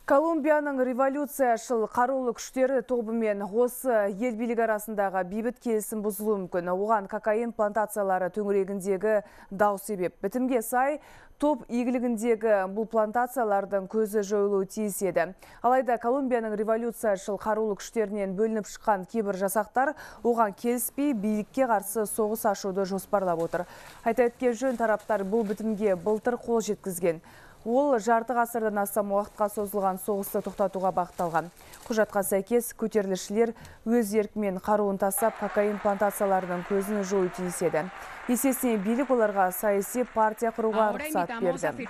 Колумбияның революцияшыл қарулы күштері тобымен осы ел билігі арасындағы бейбіт келісім бұзылуы мүмкін. Оған кокаин плантациялары төңірегіндегі дау себеп. Бітімге сай, топ игілігіндегі бұл плантациялардың көзі жойылуы тиіс еді. Алайда Колумбияның революцияшыл қарулы күштерінен бөлініп шыққан кейбір жасақтар оған келіспей билікке қарсы соғыс ашуды жоспарлап отыр. Айта кеткен жөн, тараптар бұл бітімге былтыр қол жеткізген. Ол жарты ғасырдан астам уақытқа созылған соғысты тоқтатуға бағытталған. Құжатқа сәйкес көтерілісшілер өз еркімен қаруын тастап, кокаин плантацияларының көзін жою тиіс еді. Есесіне билік оларға саяси партия құруға рұқсат берді.